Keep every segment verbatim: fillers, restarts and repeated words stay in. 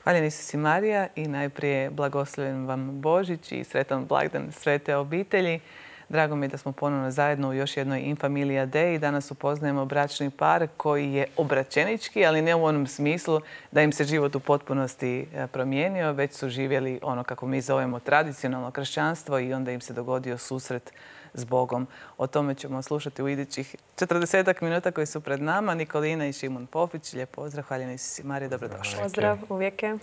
Hvaljen Isus i Marija i najprije blagoslovljen vam Božić i sretan blagdan svete obitelji. Drago mi je da smo ponovno zajedno u još jednoj In Familia Dei. Danas upoznajemo bračni par koji je obraćenički, ali ne u onom smislu da im se život u potpunosti promijenio, već su živjeli ono kako mi zovemo tradicionalno kršćanstvo i onda im se dogodio susret s Bogom. O tome ćemo slušati u idućih četrdesetak minuta koji su pred nama. Nikolina i Šimon Pofić, lijep pozdrav. Hvaljen Isus i Marija, dobrodošli. Pozdrav, uvijek je.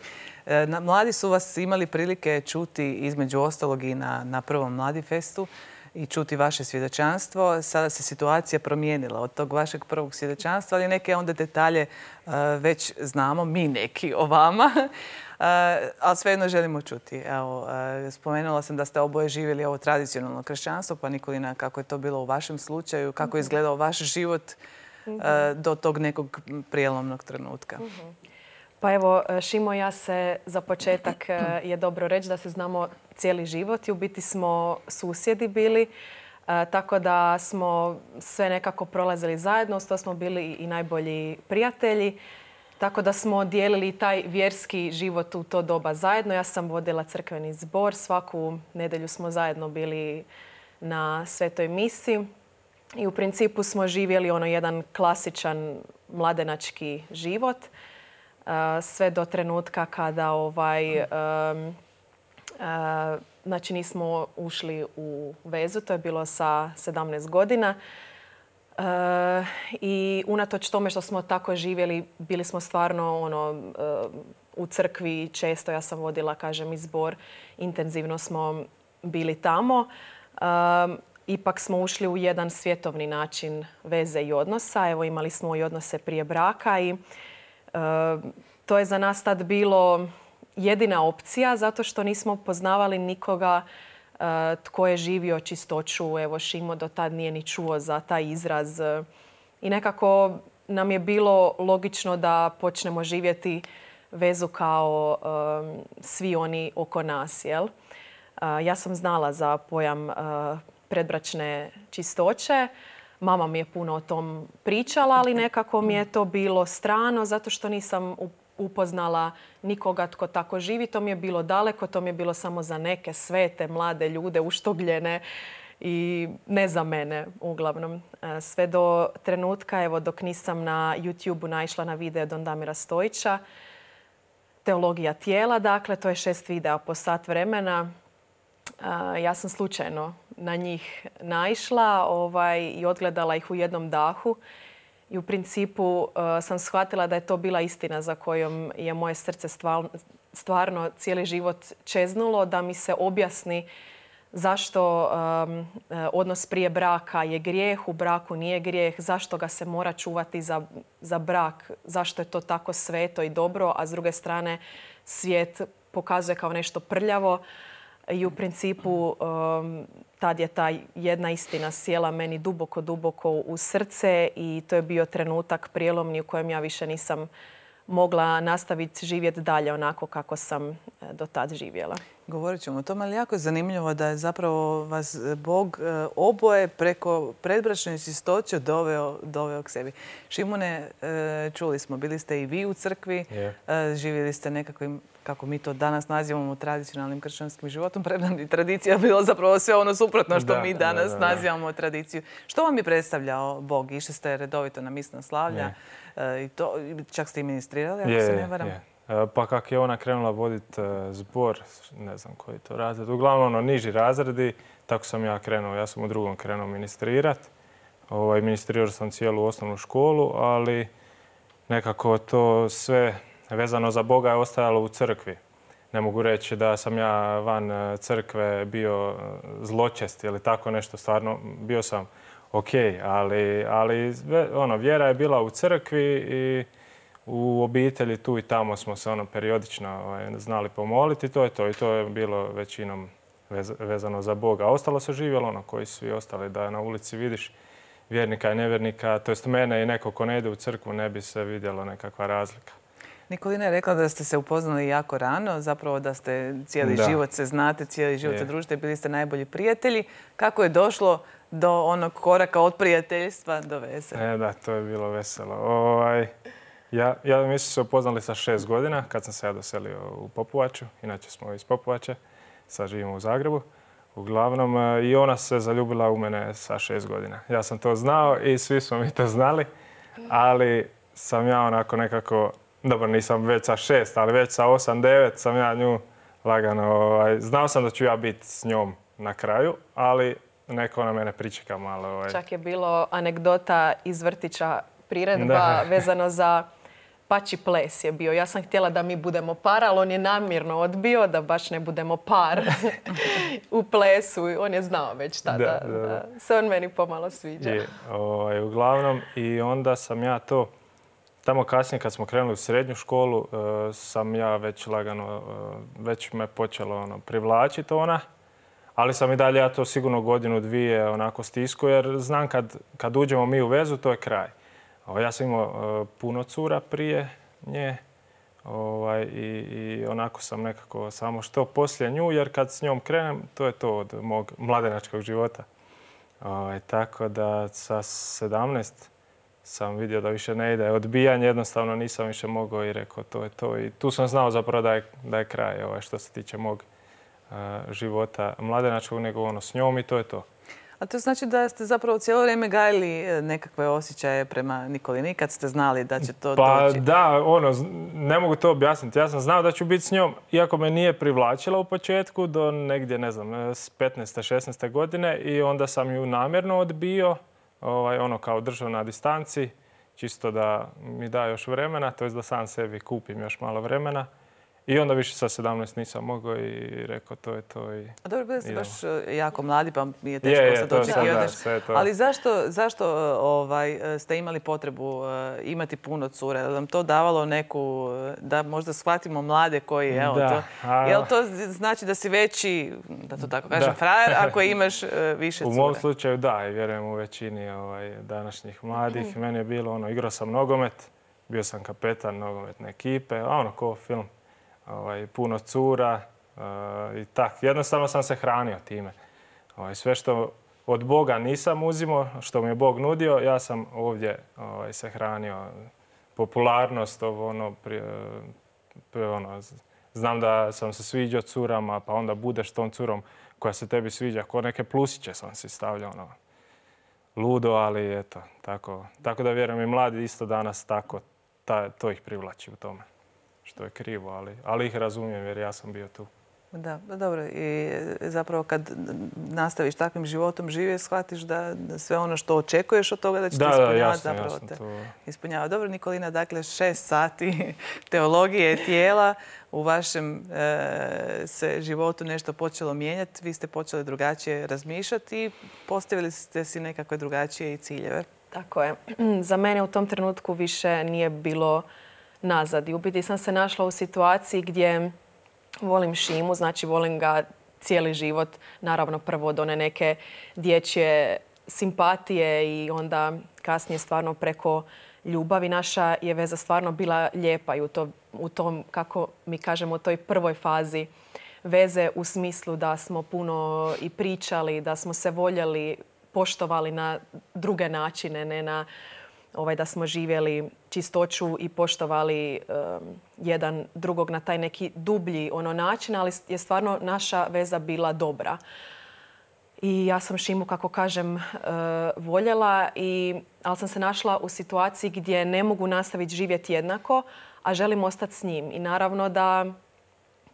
Mladi su vas imali prilike čuti između ostalog i na, na prvom Mladi festu i čuti vaše svjedočanstvo. Sada se situacija promijenila od tog vašeg prvog svjedočanstva, ali neke onda detalje uh, već znamo, mi neki o vama, uh, ali svejedno želimo čuti. Evo, uh, spomenula sam da ste oboje živjeli ovo tradicionalno kršćanstvo, pa Nikolina, kako je to bilo u vašem slučaju, kako je izgledao vaš život uh, do tog nekog prijelomnog trenutka? Pa evo, Šimo i ja se za početak je dobro reći da se znamo cijeli život i u biti smo susjedi bili, tako da smo sve nekako prolazili zajedno, to smo bili i najbolji prijatelji, tako da smo dijelili taj vjerski život u to doba zajedno. Ja sam vodila crkveni zbor, svaku nedjelju smo zajedno bili na svetoj misi i u principu smo živjeli ono jedan klasičan mladenački život. Sve do trenutka kada ovaj, um, uh, znači nismo ušli u vezu, to je bilo sa sedamnaest godina. Uh, I unatoč tome što smo tako živjeli, bili smo stvarno ono, uh, u crkvi često, ja sam vodila, kažem, i zbor, intenzivno smo bili tamo. Uh, ipak smo ušli u jedan svjetovni način veze i odnosa. Evo, imali smo i odnose prije braka i to je za nas tad bilo jedina opcija zato što nismo poznavali nikoga tko je živio čistoću. Evo, Šimo do tad nije ni čuo za taj izraz. I nekako nam je bilo logično da počnemo živjeti vezu kao um, svi oni oko nas. Jel? Uh, ja sam znala za pojam uh, predbračne čistoće. Mama mi je puno o tom pričala, ali nekako mi je to bilo strano zato što nisam upoznala nikoga tko tako živi. To mi je bilo daleko, to mi je bilo samo za neke svete, mlade ljude, uštogljene i ne za mene uglavnom. Sve do trenutka, evo, dok nisam na YouTubeu naišla na video Don Damira Stojića, Teologija tijela, dakle, to je šest videa po sat vremena. Ja sam slučajno na njih naišla ovaj, i odgledala ih u jednom dahu. I u principu uh, sam shvatila da je to bila istina za kojom je moje srce stvarno, stvarno cijeli život čeznulo, da mi se objasni zašto um, odnos prije braka je grijeh, u braku nije grijeh, zašto ga se mora čuvati za, za brak, zašto je to tako sveto i dobro, a s druge strane svijet pokazuje kao nešto prljavo. I u principu um, tad je ta jedna istina sjela meni duboko, duboko u srce i to je bio trenutak prijelomni u kojem ja više nisam mogla nastaviti živjeti dalje onako kako sam do tad živjela. Govorit ćemo o tome, ali jako je zanimljivo da je zapravo vas Bog oboje preko predbračne čistoće doveo, doveo k sebi. Šimone, čuli smo, bili ste i vi u crkvi, yeah. živjeli ste nekakvim, kako mi to danas nazivamo, tradicionalnim kršćanskim životom. Premda tradicija bila zapravo sve ono suprotno što da, mi danas da, da, da. nazivamo tradiciju. Što vam je predstavljao Bog? Išli ste redovito na misna slavlja yeah. i to, čak ste i ministrirali, ako yeah, se ne varam. Yeah. Pa kako je ona krenula voditi zbor, ne znam koji to razred, uglavnom ono niži razredi, tako sam ja krenuo. Ja sam u drugom krenuo ministrirati. Ovaj, ministrirao sam cijelu osnovnu školu, ali nekako to sve vezano za Boga je ostajalo u crkvi. Ne mogu reći da sam ja van crkve bio zločest ili tako nešto. Stvarno bio sam ok, ali, ali ono, vjera je bila u crkvi i u obitelji tu i tamo smo se ono periodično ovaj, znali pomoliti. To je to i to je bilo većinom vez, vezano za Boga. A ostalo se živjelo ono koji svi ostali, da na ulici vidiš vjernika i nevjernika, to jest mene i neko ko ne ide u crkvu, ne bi se vidjelo nekakva razlika. Nikolina je rekla da ste se upoznali jako rano, zapravo da ste cijeli da. život se znate, cijeli život se družite, bili ste najbolji prijatelji. Kako je došlo do onog koraka od prijateljstva do veze? E, da, to je bilo veselo. Ovaj, Ja, ja mi smo se upoznali sa šest godina kad sam se ja doselio u Popovaču. Inače smo iz Popovače, sad živimo u Zagrebu. Uglavnom, i ona se zaljubila u mene sa šest godina. Ja sam to znao i svi smo mi to znali, ali sam ja onako nekako, dobro nisam već sa šest, ali već sa osam, devet sam ja nju lagano, ovaj, znao sam da ću ja biti s njom na kraju, ali neko na mene pričeka malo. Ovaj. Čak je bilo anegdota iz vrtića, priredba vezano za pači ples je bio. Ja sam htjela da mi budemo par, ali on je namjerno odbio da baš ne budemo par u plesu. On je znao već tada da, da, da. da se on meni pomalo sviđa. Je, ovaj, uglavnom, i onda sam ja to, tamo kasnije kad smo krenuli u srednju školu, uh, sam ja već lagano, uh, već me počelo ono, privlačiti ona. Ali sam i dalje ja to sigurno godinu, dvije onako stisku, jer znam kad, kad uđemo mi u vezu, to je kraj. Ja sam imao uh, puno cura prije nje ovaj, i, i onako sam nekako samo što poslije nju, jer kad s njom krenem, to je to od mog mladenačkog života. Ovaj, tako da sa sedamnaest sam vidio da više ne ide. Odbijanje jednostavno nisam više mogao i rekao to je to. I tu sam znao zapravo da je, da je kraj ovaj, što se tiče mog uh, života mladenačkog, nego ono s njom i to je to. A to znači da ste zapravo cijelo vrijeme gajili nekakve osjećaje prema Nikolini kad ste znali da će to pa doći? Pa da, ono, ne mogu to objasniti. Ja sam znao da ću biti s njom, iako me nije privlačila u početku do negdje, ne znam, s petnaeste, šesnaeste godine i onda sam ju namjerno odbio, ovaj, ono kao držao na distanci, čisto da mi da još vremena, to je da sam sebi kupim još malo vremena. I onda više sa sedamnaest nisam mogao i rekao to je to. I a dobro, bili ste baš jako mladi pa mi je teško sad očekivati. Ali zašto, zašto ovaj, ste imali potrebu imati puno cure? Je li vam to davalo neku, da možda shvatimo mlade koji, evo da, to, a... je li to znači da si veći, da to tako kažem, da. frajer ako imaš više cure? U mom slučaju da, i vjerujem u većini ovaj, današnjih mladih. Meni je bilo ono, igrao sam nogomet, bio sam kapetan nogometne ekipe, a ono ko film. Ovaj, puno cura uh, i tak. Jednostavno sam se hranio time. Ovaj, sve što od Boga nisam uzimao, što mi je Bog nudio, ja sam ovdje ovaj, se hranio. Popularnost, ovo, ono, pri, pri, ono, znam da sam se sviđao curama, pa onda budeš tom curom koja se tebi sviđa. Ko neke plusiće sam si stavljao. Ono, ludo, ali eto, tako. Tako da vjerujem i mladi isto danas tako, ta, to ih privlači u tome. Što je krivo, ali, ali ih razumijem jer ja sam bio tu. Da, dobro. I zapravo kad nastaviš takvim životom živjeti, shvatiš da sve ono što očekuješ od toga da će da, te ispunjavati, da, jasno, zapravo jasno, te to... ispunjava. Dobro, Nikolina, dakle šest sati teologije tijela. U vašem e, se životu nešto počelo mijenjati. Vi ste počeli drugačije razmišljati i postavili ste si nekakve drugačije i ciljeve. Tako je. Za mene u tom trenutku više nije bilo nazad. I u biti sam se našla u situaciji gdje volim Šimu, znači volim ga cijeli život. Naravno prvo od one neke dječje simpatije i onda kasnije stvarno preko ljubavi. Naša je veza stvarno bila lijepa i u, to, u tom, kako mi kažemo, u toj prvoj fazi veze u smislu da smo puno i pričali, da smo se voljeli, poštovali na druge načine, ne na ovaj, da smo živjeli čistoću i poštovali um, jedan drugog na taj neki dublji ono način, ali je stvarno naša veza bila dobra. I ja sam Šimu, kako kažem, uh, voljela, i, ali sam se našla u situaciji gdje ne mogu nastaviti živjeti jednako, a želim ostati s njim. I naravno da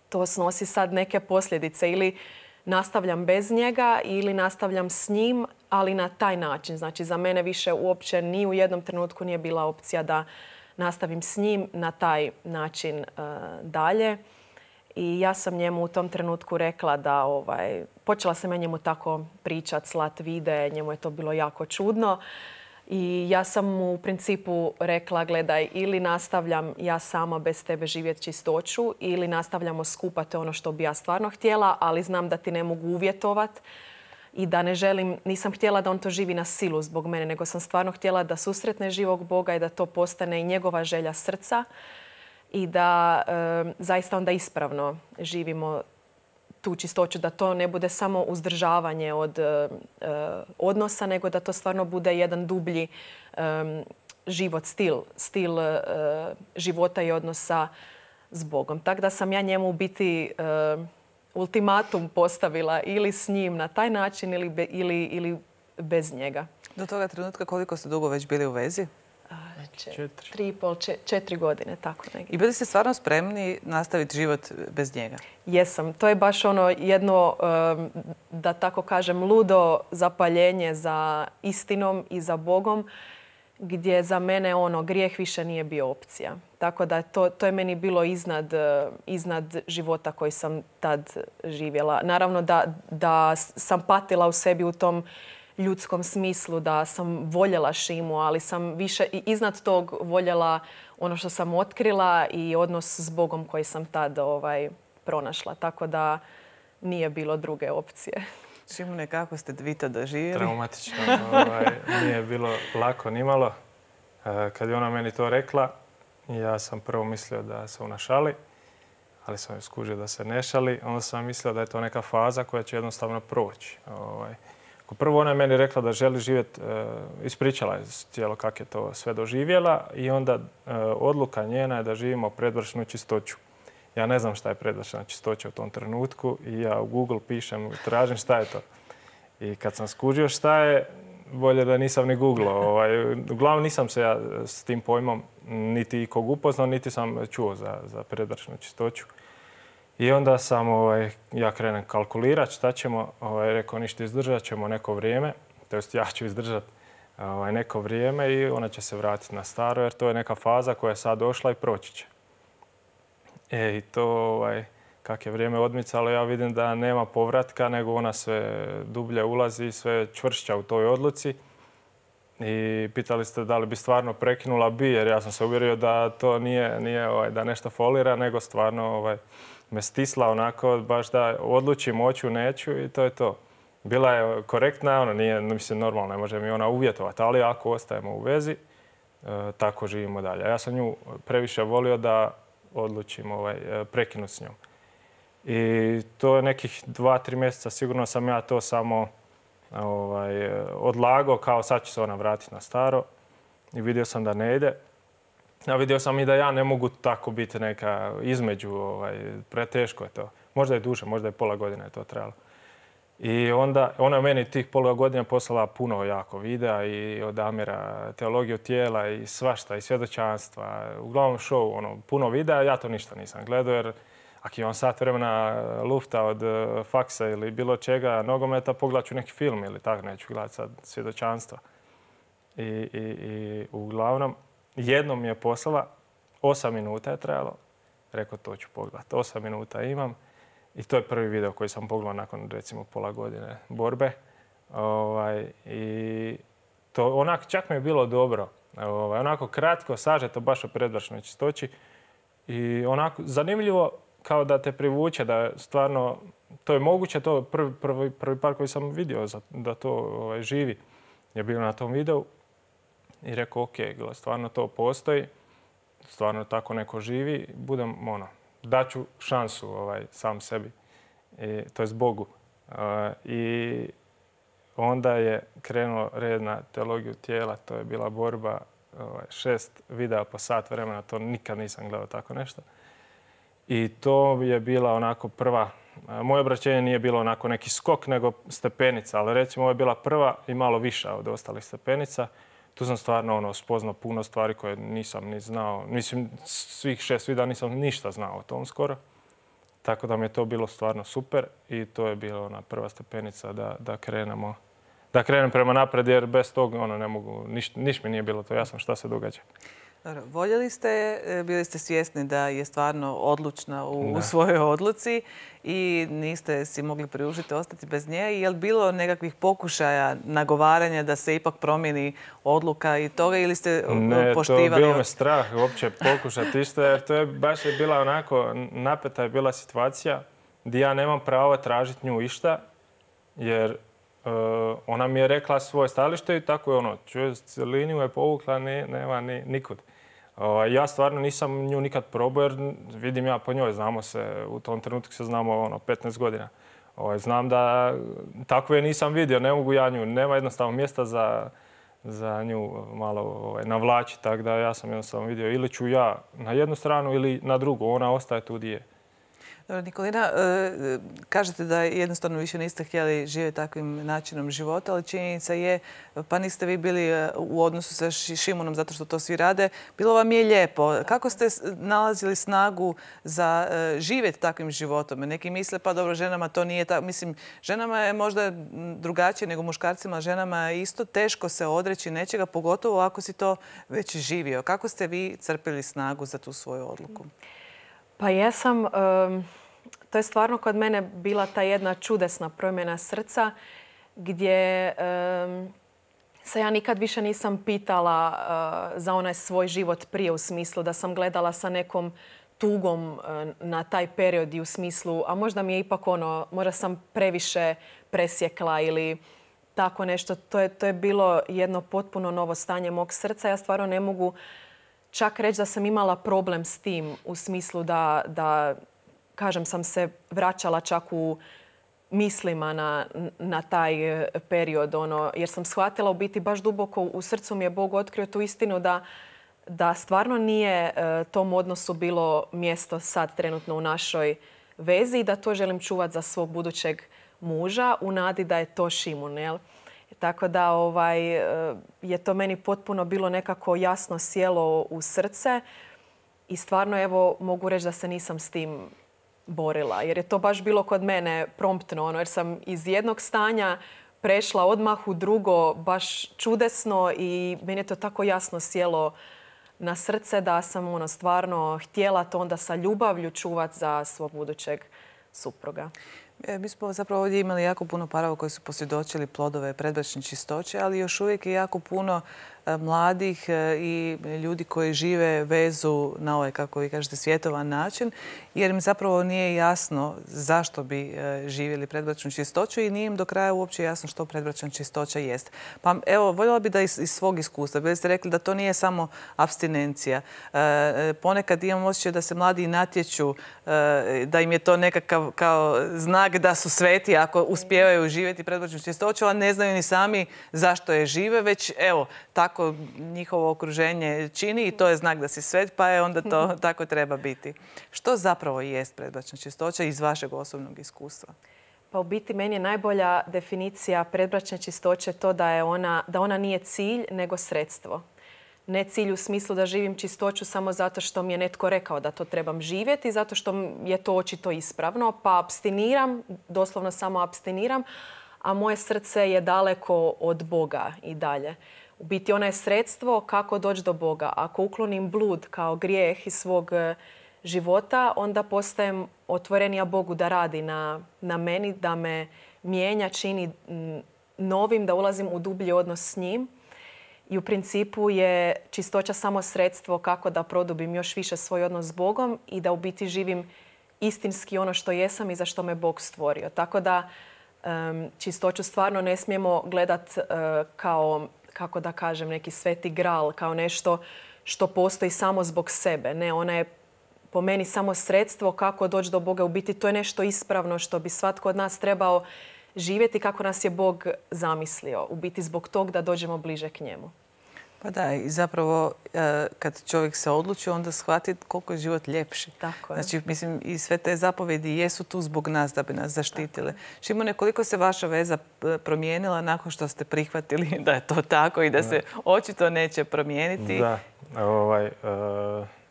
to snosi sad neke posljedice. Ili nastavljam bez njega ili nastavljam s njim, ali na taj način. Znači, za mene više uopće ni u jednom trenutku nije bila opcija da nastavim s njim na taj način uh, dalje. I ja sam njemu u tom trenutku rekla da, ovaj, počela sam ja njemu tako pričat, slat vide, njemu je to bilo jako čudno. I ja sam mu u principu rekla, gledaj, ili nastavljam ja sama bez tebe živjeti čistoću, ili nastavljamo skupa, to je ono što bi ja stvarno htjela, ali znam da ti ne mogu uvjetovat i da ne želim, nisam htjela da on to živi na silu zbog mene, nego sam stvarno htjela da susretne živog Boga i da to postane i njegova želja srca i da e, zaista onda ispravno živimo tu čistoću, da to ne bude samo uzdržavanje od e, odnosa, nego da to stvarno bude jedan dublji, e, život, stil, stil uh, života i odnosa s Bogom. Tako da sam ja njemu u biti uh, ultimatum postavila ili s njim na taj način ili, be, ili, ili bez njega. Do toga trenutka koliko ste dugo već bili u vezi? Četiri. Tri i pol, četiri godine, tako negdje. I bili ste stvarno spremni nastaviti život bez njega? Jesam. To je baš ono jedno, da tako kažem, ludo zapaljenje za istinom i za Bogom, gdje za mene ono, grijeh više nije bio opcija. Tako da to, to je meni bilo iznad, iznad života koji sam tad živjela. Naravno da, da sam patila u sebi u tom ljudskom smislu, da sam voljela Šimu, ali sam više i iznad tog voljela ono što sam otkrila i odnos s Bogom koji sam tad ovaj, pronašla. Tako da nije bilo druge opcije. Šimune, kako ste vi to doživjeli? Traumatično. Ovaj, nije bilo lako nimalo. Kad je ona meni to rekla, ja sam prvo mislio da se ona šali, ali sam joj skužio da se ne šali. Onda sam mislio da je to neka faza koja će jednostavno proći. Ovaj, Prvo ona je meni rekla da želi živjeti, ispričala je cijelo kako je to sve doživjela i onda odluka njena je da živimo predbračnu čistoću. Ja ne znam šta je predbračna čistoća u tom trenutku i ja u Google pišem, tražim šta je to. I kad sam skužio šta je, bolje da nisam ni googlao. Ovaj, uglavnom nisam se ja s tim pojmom niti ikog upoznao, niti sam čuo za, za predbračnu čistoću. I onda sam, ovaj, ja krenem kalkulirati šta ćemo, ovaj, rekao ništa, izdržat ćemo neko vrijeme, to jest ja ću izdržati ovaj, neko vrijeme i ona će se vratiti na staro jer to je neka faza koja je sad došla i proći će. E, i to, ovaj, kak je vrijeme odmicalo, ja vidim da nema povratka, nego ona sve dublje ulazi, sve čvršća u toj odluci. I pitali ste da li bi stvarno prekinula, bi, jer ja sam se uvjerio da to nije, nije ovaj, da nešto folira, nego stvarno ovaj, me stisla onako, baš da odlučim, hoću, neću i to je to. Bila je korektna, ona nije, mislim, normalno, ne može mi ona uvjetovati, ali ako ostajemo u vezi, e, tako živimo dalje. Ja sam nju previše volio da odlučim ovaj, prekinuti s njom. I to je nekih dva, tri mjeseca, sigurno sam ja to samo ovaj, odlagao, kao sad će se ona vratiti na staro. I vidio sam da ne ide. A vidio sam i da ja ne mogu tako biti neka između, ovaj, preteško je to. Možda je duže, možda je pola godine je to trebalo. I onda ona je meni tih pola godina poslala puno jako videa i od Amira, teologiju tijela i svašta i svjedočanstva. Uglavnom show, ono, puno videa, ja to ništa nisam gledao jer ako imam sat vremena lufta od faksa ili bilo čega, nogometa, pogledat ću neki film ili tako, neću gledati sad svjedočanstva. I, i, i uglavnom, jednom mi je poslala, osam minuta je trebalo, rekao to ću pogledati, osam minuta imam i to je prvi video koji sam pogledao nakon recimo pola godine borbe. Ovaj, i to onako čak mi je bilo dobro, ovaj, onako kratko, sažeto, baš o predbračnoj čistoći i onako zanimljivo kao da te privuče, da stvarno, to je moguće, to je prvi, prvi, prvi par koji sam vidio da to ovaj, živi je bilo na tom videu. I rekao, ok, stvarno to postoji, stvarno tako neko živi, budem, ono, daću šansu ovaj, sam sebi, I, to jest Bogu. Uh, I onda je krenuo red na teologiju tijela, to je bila borba, ovaj, šest videa po sat vremena, to nikad nisam gledao tako nešto. I to je bila onako prva, moje obraćenje nije bilo onako neki skok, nego stepenica, ali recimo ovo je bila prva i malo viša od ostalih stepenica. Tu sam stvarno ono, spoznao puno stvari koje nisam ni znao. Mislim, svih šest videa nisam ništa znao o tom skoro. Tako da mi je to bilo stvarno super i to je bila ona prva stepenica da, da krenemo, da krenem prema napred jer bez toga ono, ne mogu, niš, niš mi nije bilo to jasno šta se događa. Dobro, voljeli ste, bili ste svjesni da je stvarno odlučna u, u svojoj odluci i niste si mogli priužiti ostati bez nje. Je li bilo nekakvih pokušaja nagovaranja da se ipak promijeni odluka i toga ili ste ne, poštivali? Ne, to bilo me strah uopće pokušati isto jer to je baš je bila onako napeta je bila situacija gdje ja nemam pravo tražiti nju išta jer uh, ona mi je rekla svoje stajalište i tako je ono, čuje, liniju je povukla, ne, nema ni, nikud. Ja stvarno nisam nju nikad probao jer vidim ja po njoj, znamo se, u tom trenutku se znamo ono, petnaest godina. Znam da takve nisam vidio, ne mogu ja nju, nema jednostavno mjesta za, za nju malo ovaj, navlači. Tako da ja sam jednostavno vidio ili ću ja na jednu stranu ili na drugu. Ona ostaje tu gdje je. Dobro, Nikolina, kažete da jednostavno više niste htjeli živjeti takvim načinom života, ali činjenica je, pa niste vi bili u odnosu sa Šimonom zato što to svi rade. Bilo vam je lijepo. Kako ste nalazili snagu za živjeti takvim životom? Neki misle, pa dobro, ženama to nije tako. Mislim, ženama je možda drugačije nego muškarcima. Ženama je isto teško se odreći nečega, pogotovo ako si to već živio. Kako ste vi crpili snagu za tu svoju odluku? Pa jesam. Um, to je stvarno kod mene bila ta jedna čudesna promjena srca gdje um, se ja nikad više nisam pitala uh, za onaj svoj život prije, u smislu da sam gledala sa nekom tugom uh, na taj period i u smislu, a možda mi je ipak ono, možda sam previše presjekla ili tako nešto. To je, to je bilo jedno potpuno novo stanje mog srca. Ja stvarno ne mogu čak reći da sam imala problem s tim u smislu da, da kažem, sam se vraćala čak u mislima na, na taj period. Ono, jer sam shvatila u biti baš duboko u srcu mi je Bog otkrio tu istinu da, da stvarno nije e, tom odnosu bilo mjesto sad trenutno u našoj vezi i da to želim čuvati za svog budućeg muža u nadi da je to Šimun, jel? Tako da ovaj, je to meni potpuno bilo nekako jasno sjelo u srce i stvarno evo mogu reći da se nisam s tim borila. Jer je to baš bilo kod mene promptno, ono, jer sam iz jednog stanja prešla odmah u drugo baš čudesno i meni je to tako jasno sjelo na srce da sam ono, stvarno htjela to onda sa ljubavlju čuvati za svog budućeg supruga. Mi smo zapravo ovdje imali jako puno parova koji su posvjedočili plodove predbračne čistoće, ali još uvijek je jako puno mladih i ljudi koji žive vezu na ovaj, kako vi kažete, svjetovan način, jer im zapravo nije jasno zašto bi živjeli predbračnu čistoću i nije im do kraja uopće jasno što predbračna čistoća jest. Pa evo, voljela bi da iz, iz svog iskustva, bili ste rekli da to nije samo apstinencija. Ponekad imam osjećaj da se mladi natječu, da im je to nekakav kao znak da su sveti ako uspijevaju živjeti predbračnu čistoću, a ne znaju ni sami zašto je žive, već evo, tako Tako njihovo okruženje čini i to je znak da si svet, pa je onda to tako treba biti. Što zapravo jest predbračna čistoća iz vašeg osobnog iskustva? Pa u biti meni je najbolja definicija predbračne čistoće to da, je ona, da ona nije cilj nego sredstvo. Ne cilj u smislu da živim čistoću samo zato što mi je netko rekao da to trebam živjeti, zato što je to očito ispravno, pa apstiniram, doslovno samo apstiniram, a moje srce je daleko od Boga i dalje. U biti ono je sredstvo kako doći do Boga. Ako uklonim blud kao grijeh iz svog života, onda postajem otvorenija Bogu da radi na, na meni, da me mijenja, čini novim, da ulazim u dublji odnos s njim. I u principu je čistoća samo sredstvo kako da produbim još više svoj odnos s Bogom i da u biti živim istinski ono što jesam i za što me Bog stvorio. Tako da um, čistoću stvarno ne smijemo gledati uh, kao, kako da kažem, neki sveti gral, kao nešto što postoji samo zbog sebe. Ne, ona je po meni samo sredstvo kako doći do Boga. U biti to je nešto ispravno što bi svatko od nas trebao živjeti kako nas je Bog zamislio. U biti zbog tog da dođemo bliže k njemu. Pa da, i zapravo kad čovjek se odluči, onda shvati koliko je život ljepši. Tako je. Znači, mislim, i sve te zapovjedi jesu tu zbog nas, da bi nas zaštitile. Šimone, koliko se vaša veza promijenila nakon što ste prihvatili da je to tako i da se očito neće promijeniti? Da, ovaj,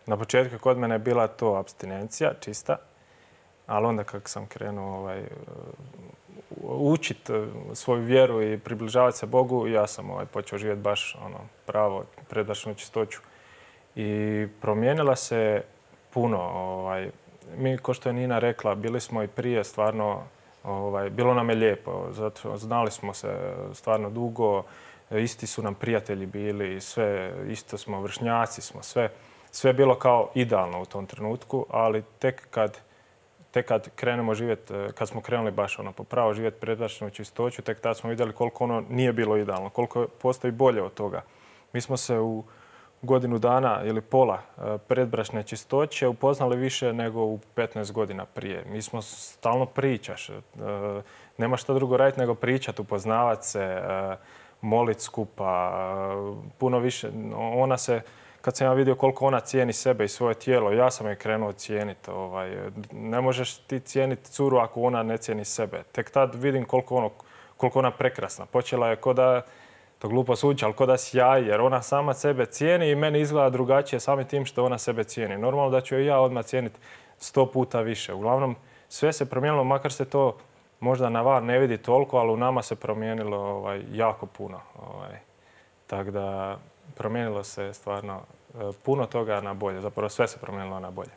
na početku kod mene je bila to apstinencija čista, ali onda kako sam krenuo ovaj, učiti svoju vjeru i približavati se Bogu, ja sam ovaj, počeo živjeti baš ono, pravo, predbračnu čistoću. I promijenila se puno. Ovaj, mi, ko što je Nina rekla, bili smo i prije stvarno, ovaj, bilo nam je lijepo, zato znali smo se stvarno dugo, isti su nam prijatelji bili, sve, isto smo vršnjaci, smo sve. Sve je bilo kao idealno u tom trenutku, ali tek kad Tek kad krenemo živjeti, kad smo krenuli baš ono popravo živjeti predbračnu čistoću, tek tad smo vidjeli koliko ono nije bilo idealno, koliko postoji bolje od toga. Mi smo se u godinu dana ili pola predbračne čistoće upoznali više nego u petnaest godina prije. Mi smo stalno pričaš, nema šta drugo raditi nego pričati, upoznavati se, moliti skupa, puno više. Ona se, kad sam ja vidio koliko ona cijeni sebe i svoje tijelo, ja sam je krenuo cijeniti. Ovaj, ne možeš ti cijeniti curu ako ona ne cijeni sebe. Tek tad vidim koliko, ono, koliko ona prekrasna. Počela je ko da, to glupo zvuči, ali ko da sjaji, jer ona sama sebe cijeni i meni izgleda drugačije samim tim što ona sebe cijeni. Normalno da ću je ja odmah cijeniti sto puta više. Uglavnom, sve se promijenilo, makar se to možda na van ne vidi toliko, ali u nama se promijenilo ovaj, jako puno. Ovaj. Tako da promijenilo se stvarno puno toga na bolje. Zapravo sve se promijenilo na bolje.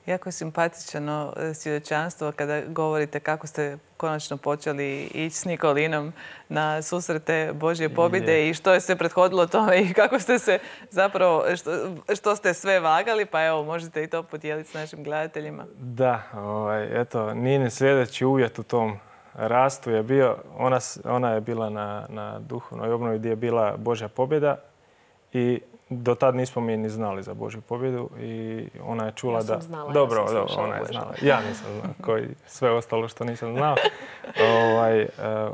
Jako je simpatično svjedočanstvo kada govorite kako ste konačno počeli ići s Nikolinom na susrete Božje pobjede i što je se prethodilo tome i kako ste se zapravo, što, što ste sve vagali, pa evo, možete i to podijeliti s našim gledateljima. Da, ovaj, eto, Ninin sljedeći uvjet u tom rastu je bio, ona, ona je bila na, na duhovnoj obnovi gdje je bila Božja pobjeda i do tad nismo mi ni znali za Božju pobjedu i ona je čula da... Ja sam znala, dobro, ja sam dobro, ona je znala. Ja nisam znao, koji sve ostalo što nisam znao. ovaj, uh,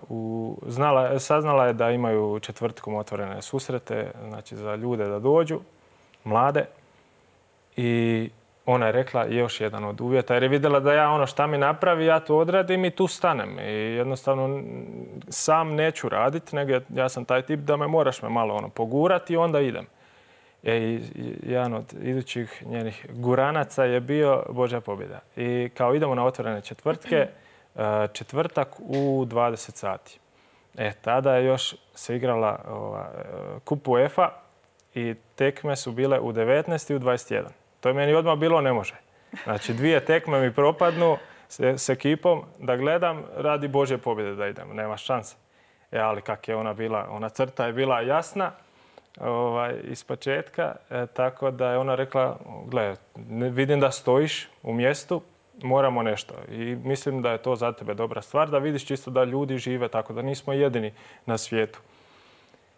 u, znala, saznala je da imaju četvrtkom otvorene susrete, znači za ljude da dođu, mlade. I ona je rekla još jedan od uvjeta, jer je vidjela da ja ono šta mi napravi, ja to odradim i tu stanem. I jednostavno sam neću raditi, nego ja sam taj tip da me moraš me malo ono pogurati i onda idem. I jedan od idućih njenih guranaca je bio Božja pobjeda. I kao idemo na otvorene četvrtke, četvrtak u dvadeset sati. E, tada je još se igrala ova, kup UEFA i tekme su bile u devetnaest i u dvadeset jedan. To je meni odmah bilo ne može. Znači, dvije tekme mi propadnu s, s ekipom da gledam radi Božje pobjede da idem. Nema šanse. E, ali kak je ona bila, ona crta je bila jasna. Ovaj, iz početka, e, tako da je ona rekla, gle, vidim da stojiš u mjestu, moramo nešto. I mislim da je to za tebe dobra stvar, da vidiš čisto da ljudi žive tako, da nismo jedini na svijetu.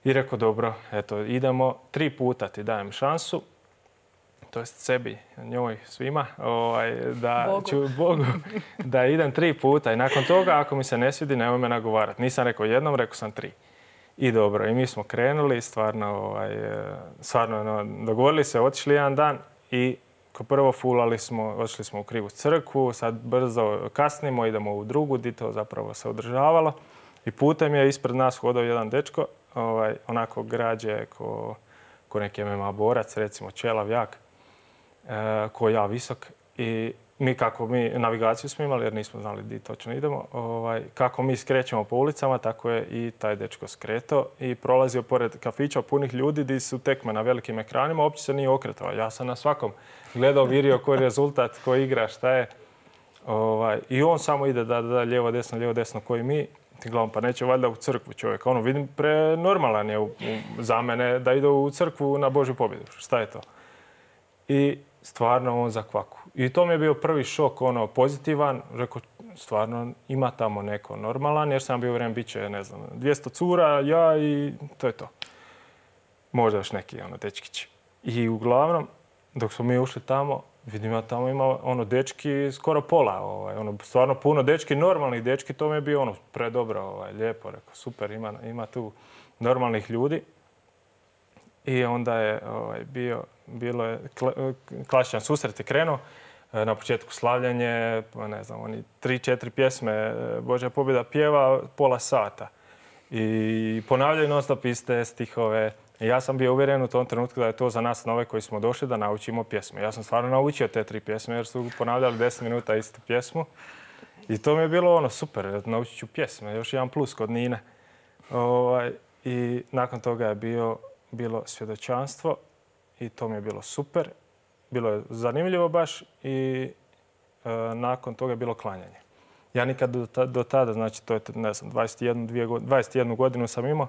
I rekao, dobro, eto, idemo, tri puta ti dajem šansu, to jest sebi, njoj, svima, ovaj, da Bogu. ću Bogu, da idem tri puta i nakon toga, ako mi se ne svidi, nemoj me nagovarati. Nisam rekao jednom, rekao sam tri. I dobro, i mi smo krenuli, stvarno, ovaj, stvarno no, dogovorili se, otišli jedan dan i kao prvo fulali smo, otišli smo u krivu crkvu, sad brzo kasnimo, idemo u drugu, di to zapravo se održavalo. I putem je ispred nas hodao jedan dečko, ovaj, onako građe ko, ko neki M M A borac, recimo čelav jak, e, ko ja visok. I mi kako mi navigaciju smo imali jer nismo znali di točno idemo, ovaj, kako mi skrećemo po ulicama, tako je i taj dečko skretao i prolazio pored kafića punih ljudi di su tekme na velikim ekranima, uopće se nije okretao. Ja sam na svakom gledao, vidio koji je rezultat, ko igra, šta je. Ovaj, I on samo ide da da lijevo, desno, lijevo, desno koji mi. Ti gledam, pa neće valjda u crkvu čovjek. Ono, vidim, prenormalan je u, u, za mene da ide u crkvu na Božju pobjedu. Šta je to? I stvarno on zakvaku. I to mi je bio prvi šok, ono, pozitivan. Rekao, stvarno ima tamo neko normalan, jer sam bio u vrijeme, bit će, ne znam, dvjesto cura, ja i to je to. Možda još neki, ono, dečkići. I uglavnom, dok smo mi ušli tamo, vidim ja tamo ima, ono, dečki skoro pola, ovaj, ono, stvarno puno dečki, normalnih dečki, to mi je bio, ono, predobro, ovaj, lijepo, rekao, super, ima, ima tu normalnih ljudi. I onda je ovaj, bio, bilo je klasičan susret je krenuo. Na početku slavljanje, ne znam, oni tri, četiri pjesme Božja pobjeda pjeva pola sata. I ponavljaju non stop iste stihove. I ja sam bio uvjeren u tom trenutku da je to za nas nove koji smo došli da naučimo pjesme. Ja sam stvarno naučio te tri pjesme jer su ponavljali deset minuta istu pjesmu. I to mi je bilo ono super, naučit ću pjesme. Još jedan plus kod Nine. Ovaj, I nakon toga je bio bilo svjedočanstvo i to mi je bilo super. Bilo je zanimljivo baš i e, nakon toga je bilo klanjanje. Ja nikad do, ta, do tada, znači to je, ne znam, dvadeset jednu, dvije, dvadeset jednu godinu sam imao,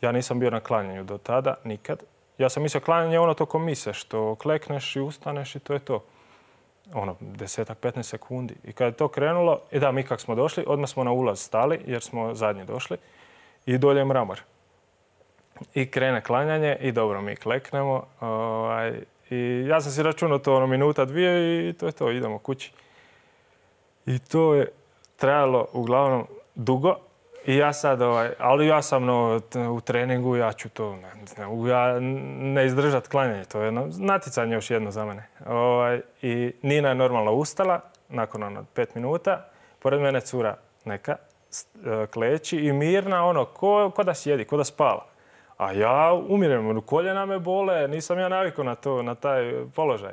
ja nisam bio na klanjanju do tada, nikad. Ja sam mislio klanjanje je ono tokom mise, što klekneš i ustaneš i to je to. Ono, desetak, petnaest sekundi. I kad je to krenulo, i da, mi kak smo došli, odmah smo na ulaz stali, jer smo zadnji došli, i dolje je mramor. I krene klanjanje i dobro, mi kleknemo. Ovaj, I ja sam si računao to ono minuta, dvije i to je to, idemo kući. I to je trajalo uglavnom dugo I ja sad, ovaj, ali ja sam no, u treningu, ja ću to, ne, ne, ja ne izdržat klanjanje, to je jedno natjecanje još jedno za mene. Ovaj, I Nina je normalno ustala, nakon ono pet minuta, pored mene cura neka, kleči i mirna, ono, ko, ko da sjedi, ko da spava. A ja umirem, koljena me bole, nisam ja navikao na to, na taj položaj.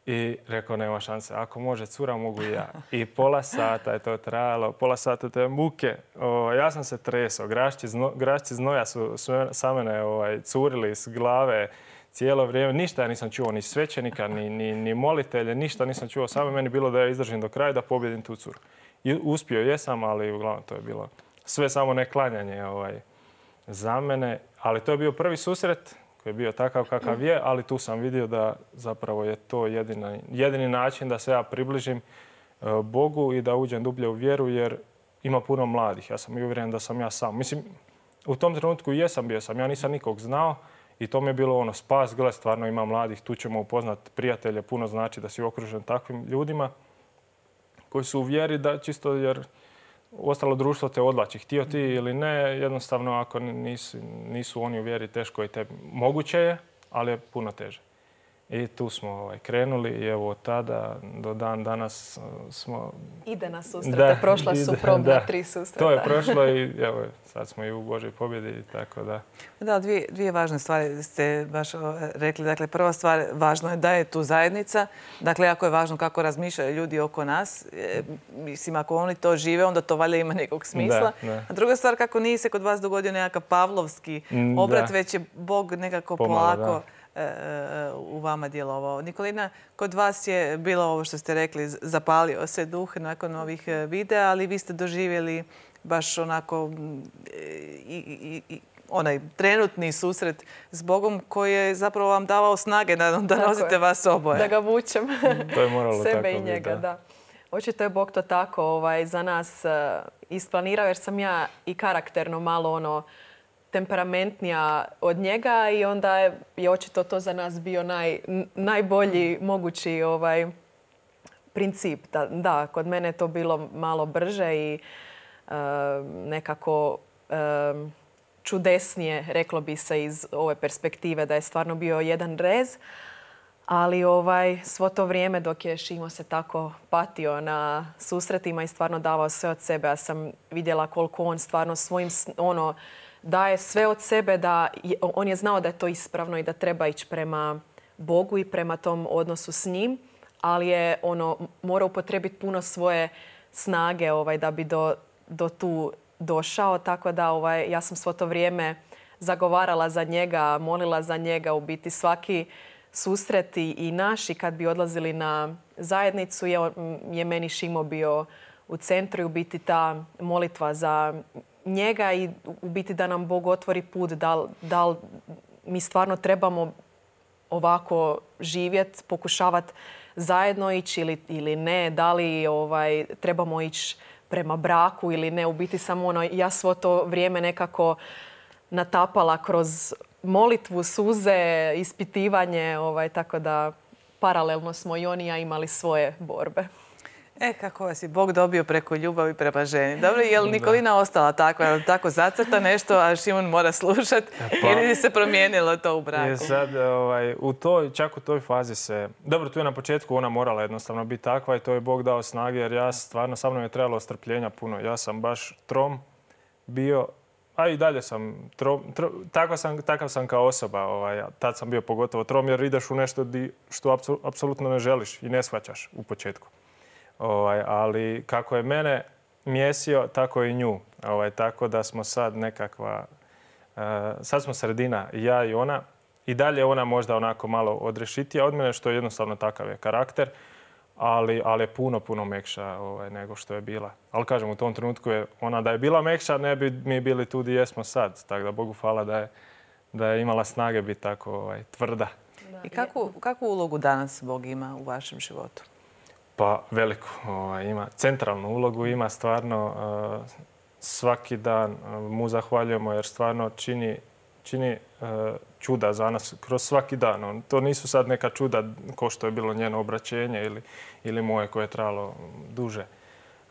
I rekao, nema šanse, ako može cura, mogu i ja. I pola sata je to trajalo, pola sata te muke. O, ja sam se tresao, grašci, zno, grašci znoja su sa mene ovaj, curili iz glave cijelo vrijeme. Ništa ja nisam čuo, ni svećenika, ni, ni, ni molitelje, ništa nisam čuo. Samo meni bilo da ja izdržim do kraja da pobjedim tu curu. I uspio jesam, ali uglavnom to je bilo sve samo ne klanjanje ovaj, za mene. Ali to je bio prvi susret koji je bio takav kakav je, ali tu sam vidio da zapravo je to jedini, jedini način da se ja približim Bogu i da uđem dublje u vjeru, jer ima puno mladih. Ja sam i uvjeren da sam ja sam. Mislim, u tom trenutku jesam bio sam. Ja nisam nikog znao i to mi je bilo ono spas. Gle, stvarno ima mladih, tu ćemo upoznat prijatelje. Puno znači da si okružen takvim ljudima koji su u vjeri, da čisto jer ostalo društvo te odlači. Htio ti ili ne, jednostavno ako nisu, nisu oni u vjeri, teško je tebi. Moguće je, ali je puno teže. I tu smo ovaj, krenuli i evo od tada do dan danas smo... Ide na susrete, prošla su probna tri susreta. To je prošlo i evo, sad smo i u Božoj pobjedi, tako da... Da, dvije, dvije važne stvari ste baš rekli. Dakle, prva stvar, važno je da je tu zajednica. Dakle, jako je važno kako razmišljaju ljudi oko nas. E, mislim, ako oni to žive, onda to valjda ima nekog smisla. Da, da. A druga stvar, kako nije se kod vas dogodio nekakav pavlovski obrat, već je Bog nekako Pomalo, polako... Da. u vama djelovao. Nikolina, kod vas je bilo ovo što ste rekli, zapalio se duh nakon ovih videa, ali vi ste doživjeli baš onako i, i, i onaj trenutni susret s Bogom koji je zapravo vam davao snage da, da nosite vas oboje. Da ga vučem. To je moralo sebe tako i njega, da. da. Očito je Bog to tako ovaj, za nas uh, isplanirao, jer sam ja i karakterno malo ono temperamentnija od njega i onda je, je očito to za nas bio naj, najbolji mogući ovaj, princip. Da, da, kod mene je to bilo malo brže i uh, nekako uh, čudesnije, reklo bi se iz ove perspektive, da je stvarno bio jedan rez. Ali ovaj, svo to vrijeme dok je Šimo se tako patio na susretima i stvarno davao sve od sebe, ja sam vidjela koliko on stvarno svojim ono, daje sve od sebe, da je, on je znao da je to ispravno i da treba ići prema Bogu i prema tom odnosu s njim, ali je ono, morao upotrijebiti puno svoje snage ovaj, da bi do, do tu došao. Tako da ovaj, ja sam svo to vrijeme zagovarala za njega, molila za njega. U biti svaki susret i naši kad bi odlazili na zajednicu je, je meni Šimo bio u centru i u biti ta molitva za njega i u biti da nam Bog otvori put, da li, da li mi stvarno trebamo ovako živjeti, pokušavati zajedno ići ili, ili ne, da li ovaj, trebamo ići prema braku ili ne. U biti samo ono, ja svo to vrijeme nekako natapala kroz molitvu, suze, ispitivanje, ovaj, tako da paralelno smo i on i ja imali svoje borbe. E, kako vas je Bog dobio preko ljubavi prema ženi. Dobro, je li Nikolina ostala takva, tako zacrta nešto, a Šimon mora slušati pa, ili se promijenilo to u braku? Je sad, ovaj, u toj, čak u toj fazi se... Dobro, tu je na početku ona morala jednostavno biti takva i to je Bog dao snage, jer ja stvarno, sa mnom je trebalo strpljenja puno. Ja sam baš trom bio, a i dalje sam trom, trom, takav, sam, takav sam kao osoba. Ovaj, tad sam bio pogotovo trom, jer ideš u nešto di, što apsolutno ne želiš i ne shvaćaš u početku. Ovaj, ali kako je mene mjesio, tako i nju. Ovaj, tako da smo sad nekakva... Uh, sad smo sredina, ja i ona. I dalje ona možda onako malo odrešitija od mene, što je jednostavno takav je karakter. Ali, ali je puno, puno mekša ovaj, nego što je bila. Ali kažem, u tom trenutku je ona da je bila mekša, ne bi mi bili tu gdje jesmo sad. Tako da Bogu hvala da je, da je imala snage biti tako ovaj, tvrda. I kakvu, kakvu ulogu danas Bog ima u vašem životu? Pa veliku. Ovaj, ima centralnu ulogu, ima stvarno uh, svaki dan uh, mu zahvaljujemo jer stvarno čini, čini uh, čuda za nas kroz svaki dan. On, to nisu sad neka čuda ko što je bilo njeno obraćenje ili, ili moje koje je trajalo duže.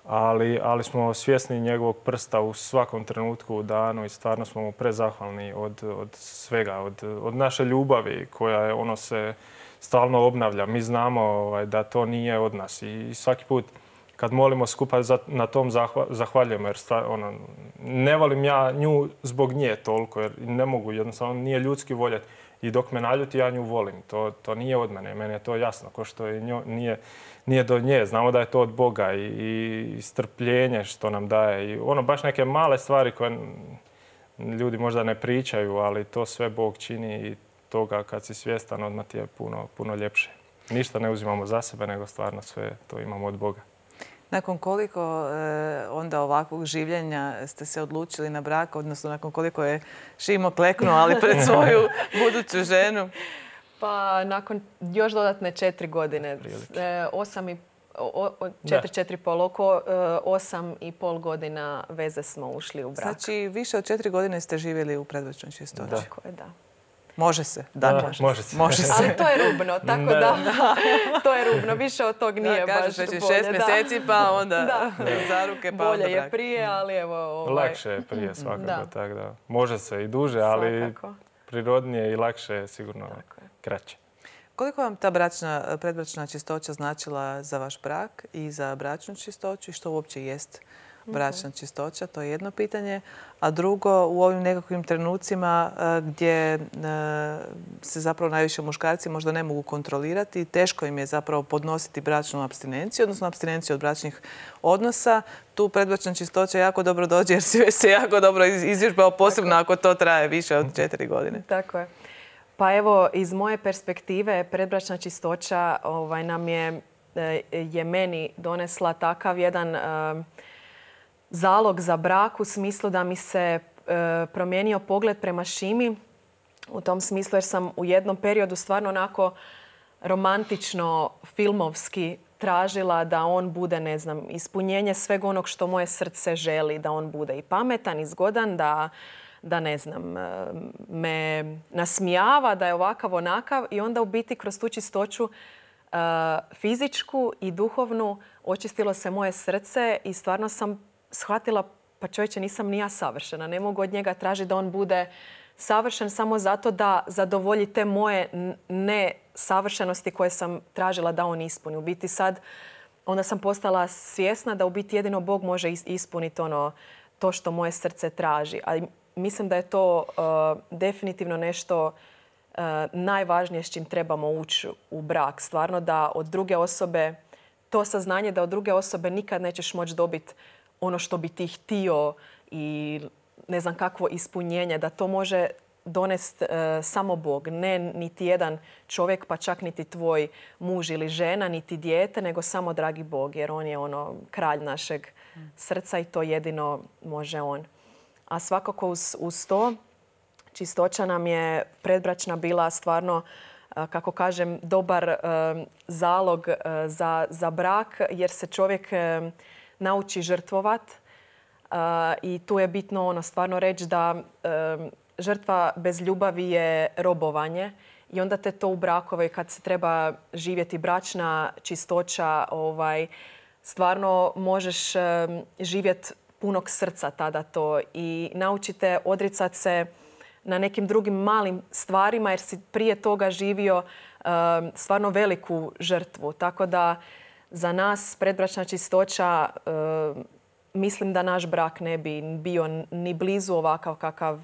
ali, ali smo svjesni njegovog prsta u svakom trenutku u danu i stvarno smo mu prezahvalni od, od svega, od, od naše ljubavi koja je, ono se stalno obnavlja. Mi znamo ovaj, da to nije od nas i svaki put kad molimo skupa za, na tom zahva, zahvaljujemo jer stvar, ono, ne volim ja nju zbog nje toliko jer ne mogu, jednostavno nije ljudski voljeti. I dok me naljuti, ja nju volim. To, to nije od mene. Meni je to jasno. Ko što je njo, nije, nije do nje. Znamo da je to od Boga i, i strpljenje što nam daje. I ono, baš neke male stvari koje ljudi možda ne pričaju, ali to sve Bog čini i toga kad si svjestan odmah ti je puno, puno ljepše. Ništa ne uzimamo za sebe, nego stvarno sve to imamo od Boga. Nakon koliko e, onda ovakvog življenja ste se odlučili na brak, odnosno nakon koliko je Šimo kleknuo, ali pred svoju buduću ženu? Pa nakon još dodatne četiri godine, e, osam i o, o, četiri, četiri pol, oko e, osam i pol godina veze smo ušli u brak. Znači više od četiri godine ste živjeli u predbračnoj čistoći. Tako je, da. Može se, da, da može, može se. Može se. Ali to je rubno, tako da, da to je rubno. Više od tog nije da, baš bolje. Šest mjeseci pa onda za ruke pa bolje onda je prije, ali evo... Ovaj... Lakše je prije svakako, da. Tak da. Može se i duže, ali svakako. Prirodnije i lakše je sigurno je. Kraće. Koliko vam ta bračna, predbračna čistoća značila za vaš brak i za bračnu čistoću i što uopće jest bračna čistoća? To je jedno pitanje. A drugo, u ovim nekakvim trenucima gdje se zapravo najviše muškarci možda ne mogu kontrolirati i teško im je zapravo podnositi bračnu apstinenciju, odnosno apstinenciju od bračnih odnosa. Tu predbračna čistoća jako dobro dođe jer si se jako dobro izvježbao, posebno ako to traje više od četiri godine. Tako je. Pa evo, iz moje perspektive predbračna čistoća ovaj, nam je, je meni donesla takav jedan uh, zalog za brak u smislu da mi se uh, promijenio pogled prema Šimi. U tom smislu jer sam u jednom periodu stvarno onako romantično, filmovski tražila da on bude, ne znam, ispunjenje sveg onog što moje srce želi. Da on bude i pametan, i zgodan, da da ne znam, me nasmijava, da je ovakav onakav i onda u biti kroz tu čistoću uh, fizičku i duhovnu očistilo se moje srce i stvarno sam shvatila pa čovječe nisam ni ja savršena. Ne mogu od njega tražiti da on bude savršen samo zato da zadovolji te moje nesavršenosti koje sam tražila da on ispuni. U biti sad onda sam postala svjesna da u biti jedino Bog može ispuniti ono to što moje srce traži. A mislim da je to uh, definitivno nešto uh, najvažnije s čim trebamo ući u brak. Stvarno da od druge osobe, to saznanje da od druge osobe nikad nećeš moći dobiti ono što bi ti htio i ne znam kakvo ispunjenje, da to može donest uh, samo Bog. Ne niti jedan čovjek, pa čak niti tvoj muž ili žena, niti dijete, nego samo dragi Bog, jer on je ono kralj našeg srca i to jedino može on. A svakako uz, uz to čistoća nam je predbračna bila stvarno, kako kažem, dobar e, zalog e, za, za brak jer se čovjek e, nauči žrtvovat. E, I tu je bitno ono stvarno reći da e, žrtva bez ljubavi je robovanje i onda te to u brakove kad se treba živjeti bračna čistoća, ovaj, stvarno možeš e, živjeti punog srca tada to i naučite odricati se na nekim drugim malim stvarima jer si prije toga živio uh, stvarno veliku žrtvu. Tako da za nas predbračna čistoća uh, mislim da naš brak ne bi bio ni blizu ovakav kakav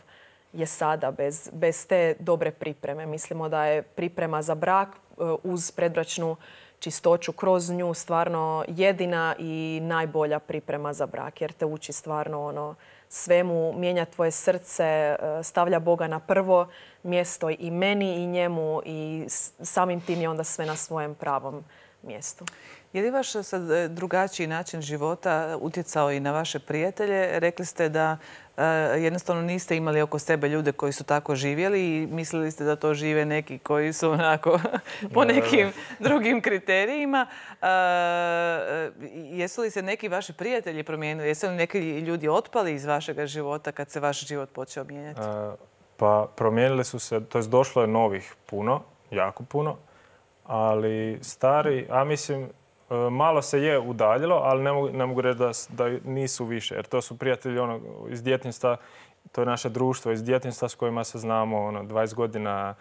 je sada bez, bez te dobre pripreme. Mislimo da je priprema za brak uh, uz predbračnu čistoću kroz nju stvarno jedina i najbolja priprema za brak jer te uči stvarno ono svemu, mijenja tvoje srce, stavlja Boga na prvo mjesto i meni i njemu i samim tim je onda sve na svojem pravom mjestu. Je li vaš sad drugačiji način života utjecao i na vaše prijatelje? Rekli ste da uh, jednostavno niste imali oko sebe ljude koji su tako živjeli i mislili ste da to žive neki koji su onako po nekim drugim kriterijima. Uh, jesu li se neki vaši prijatelji promijenili? Jesu li neki ljudi otpali iz vašeg života kad se vaš život počeo mijenjati? Uh, pa promijenili su se, to je došlo je novih puno, jako puno. Ali stari, a mislim, malo se je udaljilo, ali ne mogu, ne mogu reći da, da nisu više. Jer to su prijatelji ono, iz djetinjstva, to je naše društvo iz djetinjstva s kojima se znamo ono, dvadeset godina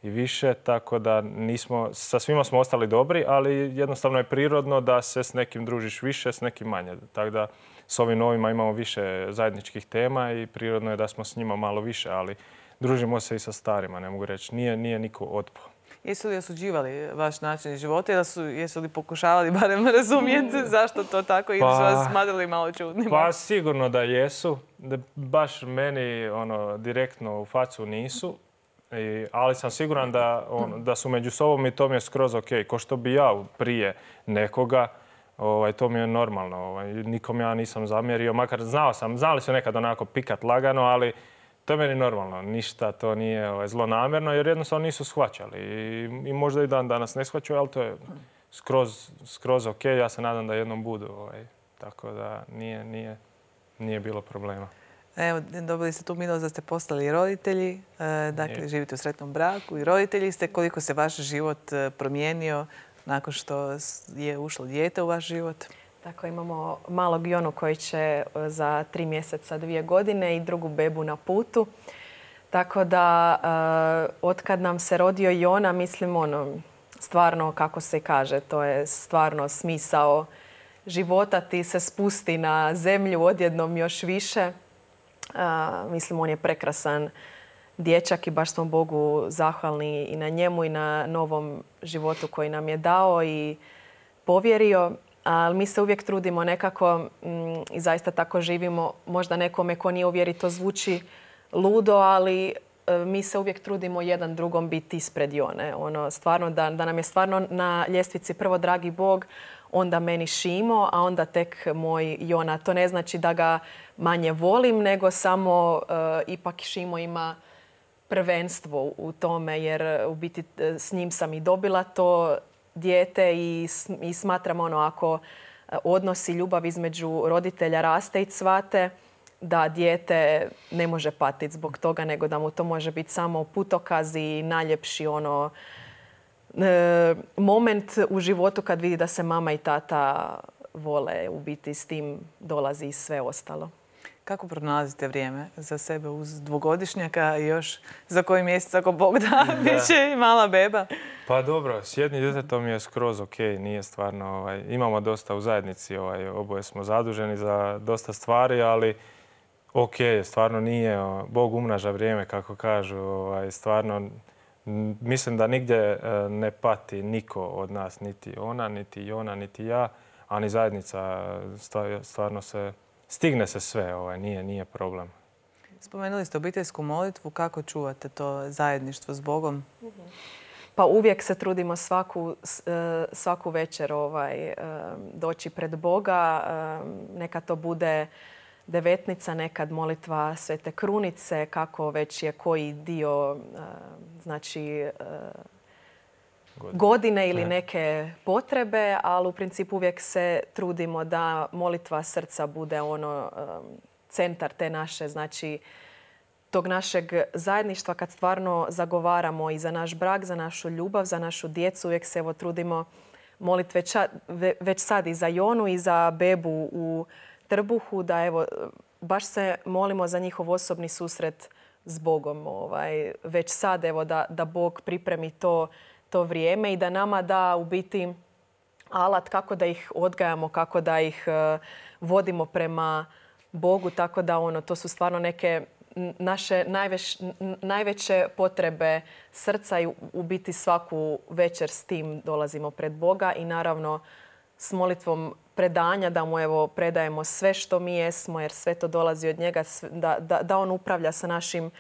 i više, tako da nismo, sa svima smo ostali dobri, ali jednostavno je prirodno da se s nekim družiš više, s nekim manje. Tako da s ovim novima imamo više zajedničkih tema i prirodno je da smo s njima malo više, ali družimo se i sa starima, ne mogu reći. Nije, nije niko otpao. Jesu li osuđivali vaš način života ili su, jesu li pokušavali barem razumjeti zašto to tako ili su vas smatrali malo čudnima? Pa sigurno da jesu. Da baš meni ono, direktno u facu nisu. I, ali sam siguran da, on, da su među sobom i to mi je skroz ok. Ko što bi ja prije nekoga, ovaj, to mi je normalno. Ovaj, nikom ja nisam zamjerio, makar znao sam, znali su nekad onako pikat lagano, ali to je meni normalno. Ništa to nije ovaj, zlonamjerno jer jednostavno nisu shvaćali. I, i možda i dan danas ne shvaćaju, ali to je skroz, skroz ok. Ja se nadam da jednom budu. Ovaj, tako da nije, nije, nije bilo problema. Evo, dobili ste tu milost da ste postali roditelji, dakle živite u sretnom braku i roditelji ste. Koliko se vaš život promijenio nakon što je ušlo dijete u vaš život? Tako, imamo malog Jonu koji će za tri mjeseca, dvije godine i drugu bebu na putu. Tako da, otkad nam se rodio Jona, mislim, ono, stvarno, kako se kaže, to je stvarno smisao života. Ti se spusti na zemlju odjednom još više. Uh, mislim, on je prekrasan dječak i baš smo Bogu zahvalni i na njemu i na novom životu koji nam je dao i povjerio. Ali mi se uvijek trudimo nekako mm, i zaista tako živimo. Možda nekome ko nije u vjeri to zvuči ludo, ali uh, mi se uvijek trudimo jedan drugom biti ispred Jone. Ono, stvarno, da, da nam je stvarno na ljestvici prvo dragi Bog, onda meni Šimo, a onda tek moj Jona. To ne znači da ga manje volim, nego samo uh, ipak Šimo ima prvenstvo u tome, jer u biti s njim sam i dobila to dijete i, i smatram ono, ako odnosi ljubav između roditelja raste i cvate, da dijete ne može patiti zbog toga, nego da mu to može biti samo putokaz i najljepši ono, e, moment u životu kad vidi da se mama i tata vole. U biti s tim dolazi i sve ostalo. Kako pronalazite vrijeme za sebe uz dvogodišnjaka i još za koji mjesec, ako Bog da, bit će i mala beba? Pa dobro, s jednim djetetom je skroz ok, nije stvarno, ovaj, imamo dosta u zajednici, ovaj, oboje smo zaduženi za dosta stvari, ali ok, stvarno nije, Bog umnaža vrijeme, kako kažu, ovaj, stvarno mislim da nigdje ne pati niko od nas, niti ona, niti Jona, niti ja, a ni zajednica, stvarno se, stigne se sve, ovaj, nije, nije problem. Spomenuli ste obiteljsku molitvu, kako čuvate to zajedništvo s Bogom? Pa uvijek se trudimo svaku, svaku večer ovaj, doći pred Boga. Neka to bude devetnica, nekad molitva Svete Krunice, kako već je koji dio znači, godine ili neke potrebe, ali u principu uvijek se trudimo da molitva srca bude ono centar te naše, znači tog našeg zajedništva kad stvarno zagovaramo i za naš brak, za našu ljubav, za našu djecu. Uvijek se evo trudimo moliti već, već sad i za Jonu i za bebu u trbuhu, da evo baš se molimo za njihov osobni susret s Bogom. Ovaj, već sad evo da, da Bog pripremi to, to vrijeme i da nama da u biti alat kako da ih odgajamo, kako da ih uh, vodimo prema Bogu. Tako da ono, to su stvarno neke naše najveć, najveće potrebe srca i u biti svaku večer s tim dolazimo pred Boga i naravno s molitvom predanja da mu evo predajemo sve što mi jesmo jer sve to dolazi od njega, da, da, da on upravlja sa našim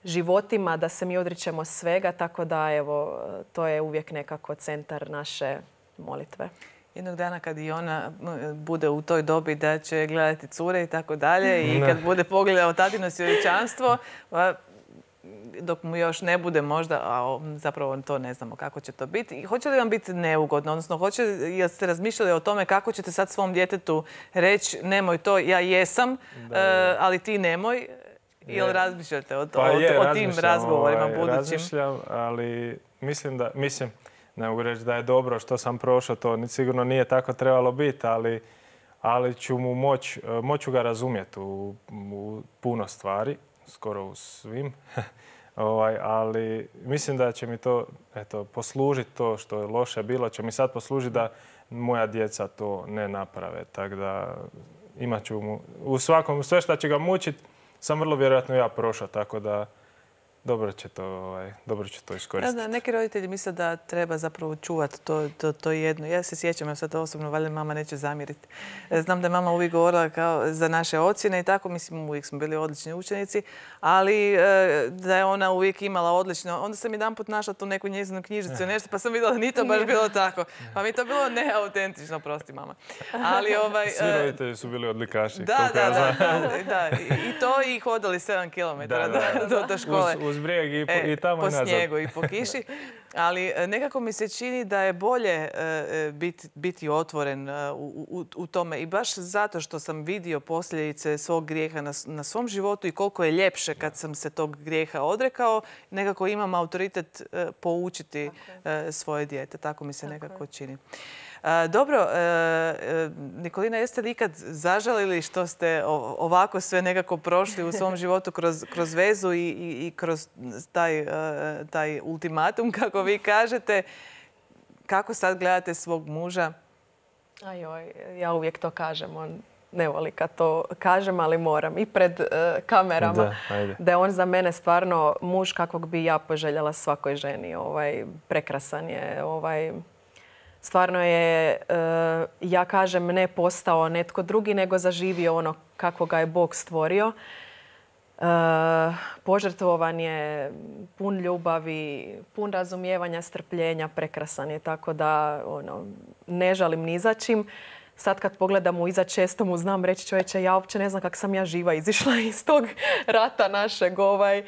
životima, da se mi odričemo svega, tako da evo to je uvijek nekako centar naše molitve. Jednog dana kad i ona bude u toj dobi da će gledati cure i tako dalje i kad bude pogledao tatino svjedočanstvo, dok mu još ne bude možda, a zapravo to ne znamo kako će to biti. Hoće li vam biti neugodno? Odnosno, hoće, jeste razmišljali o tome kako ćete sad svom djetetu reći nemoj to, ja jesam, da, ali ti nemoj? Ili razmišljate o, to, pa je, o, o tim razgovorima ovaj, budućim? Razmišljam, ali mislim da, mislim, ne mogu reći da je dobro što sam prošao, to sigurno nije tako trebalo biti, ali, ali ću mu moć, moću ga razumjeti u, u puno stvari, skoro u svim. ovaj, ali mislim da će mi to eto, poslužiti, to što je loše bilo, će mi sad poslužiti da moja djeca to ne naprave. Tako da imat ću mu, u svakom, sve što će ga mučiti, sam vrlo vjerojatno ja prošao, tako da dobro će to, ovaj, dobro će to iskoristiti. Ja, neki roditelji misle da treba zapravo čuvati to, to, to jedno. Ja se sjećam, ja sad osobno, valjda mama neće zamjeriti. Znam da je mama uvijek govorila kao za naše ocjene i tako, mislim, uvijek smo bili odlični učenici, ali da je ona uvijek imala odlično. Onda sam jedan put našla tu neku njezinu knjižicu, nešto, pa sam vidjela da nije to baš bilo tako. Pa mi to bilo neautentično, prosti mama. Ali, ovaj, svi roditelji su bili odlikaši. Da, da, da, da, da. I to i hodali sedam kilometara do, do, do škole. Uz, uz brijeg i, po, e, i tamo po i nazad. snijegu i po kiši. Ali nekako mi se čini da je bolje uh, biti, biti otvoren uh, u, u, u tome. I baš zato što sam vidio posljedice svog grijeha na, na svom životu i koliko je ljepše kad sam se tog grijeha odrekao, nekako imam autoritet uh, poučiti uh, svoje dijete. Tako mi se Tako nekako je. čini. Dobro, Nikolina, jeste li ikad zažalili što ste ovako sve nekako prošli u svom životu kroz, kroz vezu i, i, i kroz taj, taj ultimatum, kako vi kažete? Kako sad gledate svog muža? Ajoj, ja uvijek to kažem. On ne voli kad to kažem, ali moram. I pred uh, kamerama. Da, da je on za mene stvarno muž kakvog bi ja poželjela svakoj ženi. Ovaj, prekrasan je. Ovaj, Stvarno je, ja kažem, ne postao netko drugi, nego zaživio ono kako ga je Bog stvorio. Požrtvovan je, pun ljubavi, pun razumijevanja, strpljenja, prekrasan je. Tako da ono, ne žalim ni za čim. Sad kad pogledam u iza, često mu znam reći, čovječe, ja uopće ne znam kako sam ja živa izišla iz tog rata našeg. Ovaj,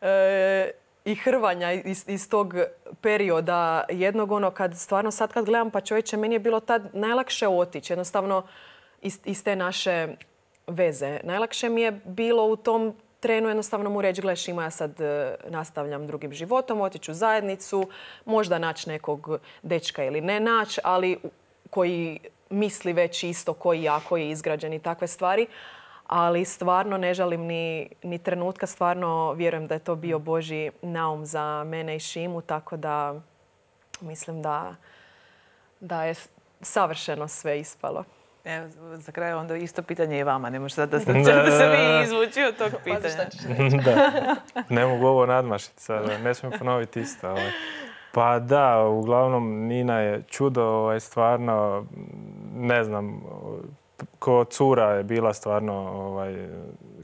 e, i hrvanja iz, iz tog perioda jednog, ono kad stvarno sad kad gledam, pa čovječe, meni je bilo tad najlakše otići jednostavno iz, iz te naše veze. Najlakše mi je bilo u tom trenu jednostavno mu reći, gle Šima, ja sad nastavljam drugim životom, otići u zajednicu, možda naći nekog dečka ili ne naći, ali koji misli već isto koji ja, koji je izgrađen i takve stvari. Ali stvarno ne žalim ni, ni trenutka, stvarno vjerujem da je to bio Božji naum za mene i Šimu, tako da mislim da, da je savršeno sve ispalo. Evo, za kraj onda isto pitanje i vama, ne može sad da, da, da se vi izvuči od tog pitanja. Da, ne mogu ovo nadmašiti sada, ne smijem ponoviti isto. Ovaj. Pa da, uglavnom Nina je čudo, ovaj, stvarno, ne znam, ko cura je bila stvarno, ovaj,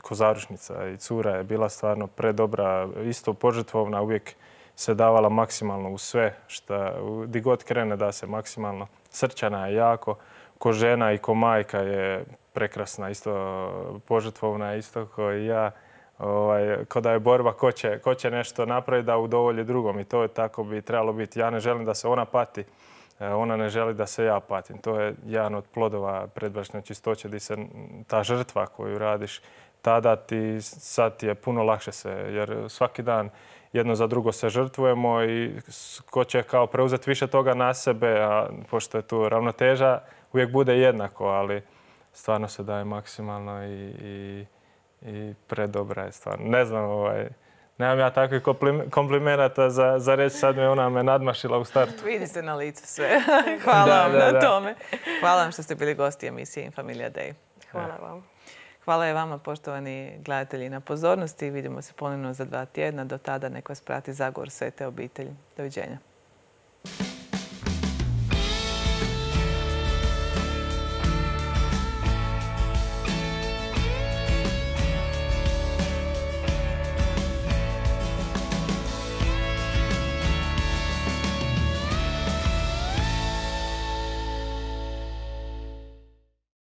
ko zaručnica i cura je bila stvarno predobra, isto požrtvovna, uvijek se davala maksimalno u sve, šta, di god krene da se maksimalno. Srčana je jako, ko žena i ko majka je prekrasna, isto požrtvovna, isto ko i ja. Ovaj, ko da je borba ko će, ko će nešto napraviti da udovolji drugom i to je tako bi trebalo biti. Ja ne želim da se ona pati. Ona ne želi da se ja patim. To je jedan od plodova predbračne čistoće gdje se ta žrtva koju radiš, tada ti, sad ti je puno lakše se, jer svaki dan jedno za drugo se žrtvujemo i ko će kao preuzeti više toga na sebe, a pošto je tu ravnoteža, uvijek bude jednako, ali stvarno se daje maksimalno i, i, i predobra je stvarno. Ne znam, ovaj, nemam ja takvih komplimenata za, za reći, sad me ona me nadmašila u startu. Vidi se na licu sve. Hvala da, vam da, na da. tome. Hvala vam što ste bili gosti emisije Infamilia Day. Hvala vam. Hvala je vama, poštovani gledatelji, na pozornosti. Vidimo se ponovno za dva tjedna. Do tada nek vas prati Zagor Svete obitelji. Doviđenja.